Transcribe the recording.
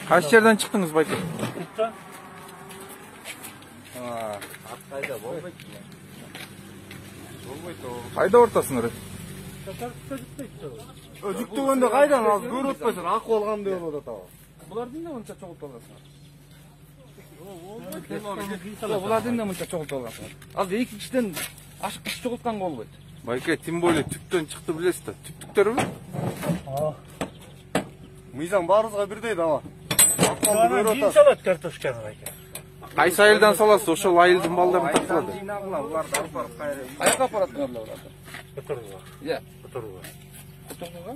Кайсы жерден чыктыңыз, байке? Кутта. Кайда болбойт. Кайда ортосуңар? Жүктөгөндө кайдан ал көрүп атпайсың, акы алгандай болуп атат ал. Булардын да мынча чогултуп аласыңар. Булардын да мынча чогултуп аласыңар. Ал 2 кишиден ашык киши чогултканга болбойт. Байке, тем более түптөн чыкты билесиз да. Түптүктөрбү? Мыйзам баарыбызга бирдей да ава. Кийин салат картошканы байке. Кайсы айылдан саласыз? Ошол айылдын балдарын тартылады. Буларды алып барып кайра. Каяка апаратыңар буларды? Которуга. Иә. Которуга. Которуга?